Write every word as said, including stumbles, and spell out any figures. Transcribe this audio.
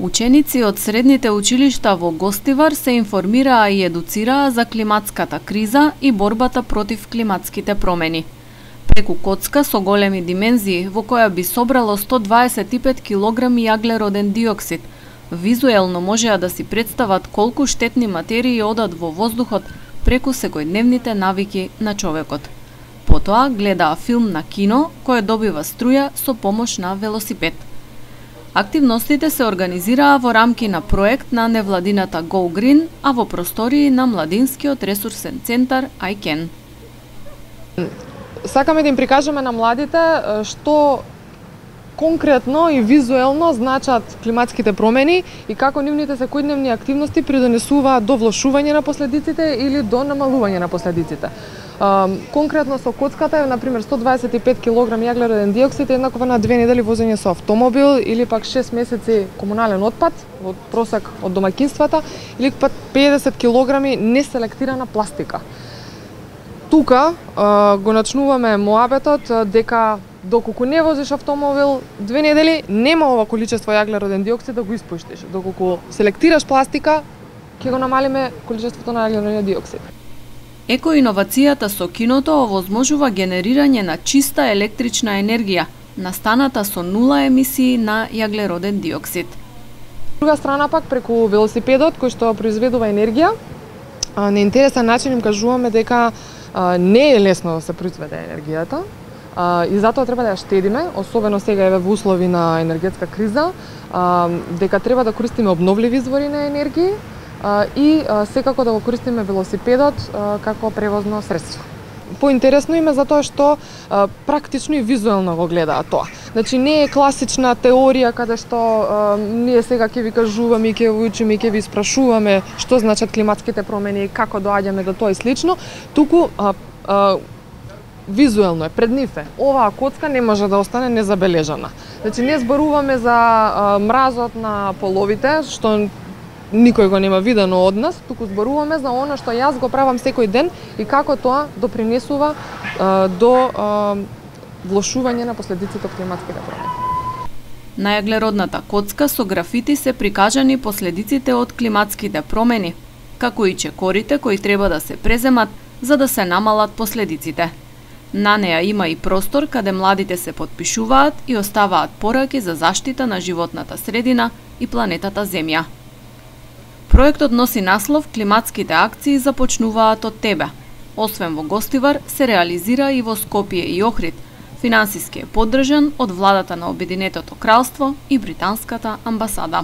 Ученици од средните училишта во Гостивар се информираа и едуцираа за климатската криза и борбата против климатските промени. Преку коцка со големи димензии, во која би собрало сто дваесет и пет килограми јаглероден диоксид, визуелно можеа да си представат колку штетни материи одат во воздухот преку секојдневните навики на човекот. Потоа гледаа филм на кино кој добива струја со помош на велосипед. Активностите се организираа во рамки на проект на невладината Go Green, а во простории на Младинскиот ресурсен центар I CAN. Сакаме да им прикажеме на младите што конкретно и визуелно значат климатските промени и како нивните секојдневни активности придонесуваат до влошување на последиците или до намалување на последиците. Конкретно со коцката, например, сто дваесет и пет килограми јаглероден диоксид е еднакво на две недели возење со автомобил или пак шест месеци комунален отпад, од просек од домаќинствата, или пак педесет килограми неселектирана пластика. Тука а, го начнуваме моабетот дека доколку не возиш автомобил две недели, нема ова количество јаглероден диоксид да го испуштиш. Доколку селектираш пластика, ќе го намалиме количеството на јаглероден диоксид. Екоиновацијата со киното овозможува генерирање на чиста електрична енергија, настаната со нула емисии на јаглероден диоксид. Друга страна пак, преку велосипедот кој што произведува енергија, на интересен начин им кажуваме дека не е лесно да се произведе енергијата и затоа треба да ја штедиме, особено сега еве во услови на енергетска криза, дека треба да користиме обновливи извори на енергија и секако да го користиме велосипедот како превозно средство. Поинтересно им е затоа што практично и визуелно го гледаат тоа. Значи не е класична теорија каде што а, ние сега ќе ви кажуваме и ќе ви учиме и ќе ви спрашуваме што значат климатските промени и како доаѓаме до тоа и слично, туку а, а, визуелно е пред нив е. Оваа коцка не може да остане незабележана. Значи не зборуваме за а, мразот на половите, што никој го нема видено од нас, туку зборуваме за она што јас го правам секој ден и како тоа допринесува а, до а, влошување на последиците од климатските промени. На јаглеродната коцка со графити се прикажани последиците од климатските промени, како и чекорите кои треба да се преземат за да се намалат последиците. На неа има и простор каде младите се потпишуваат и оставаат пораки за заштита на животната средина и планетата Земја. Проектот носи наслов "Климатските акции започнуваат од тебе". Освен во Гостивар, се реализира и во Скопје и Охрид. Финансиски е поддржан од владата на Обединетото кралство и британската амбасада.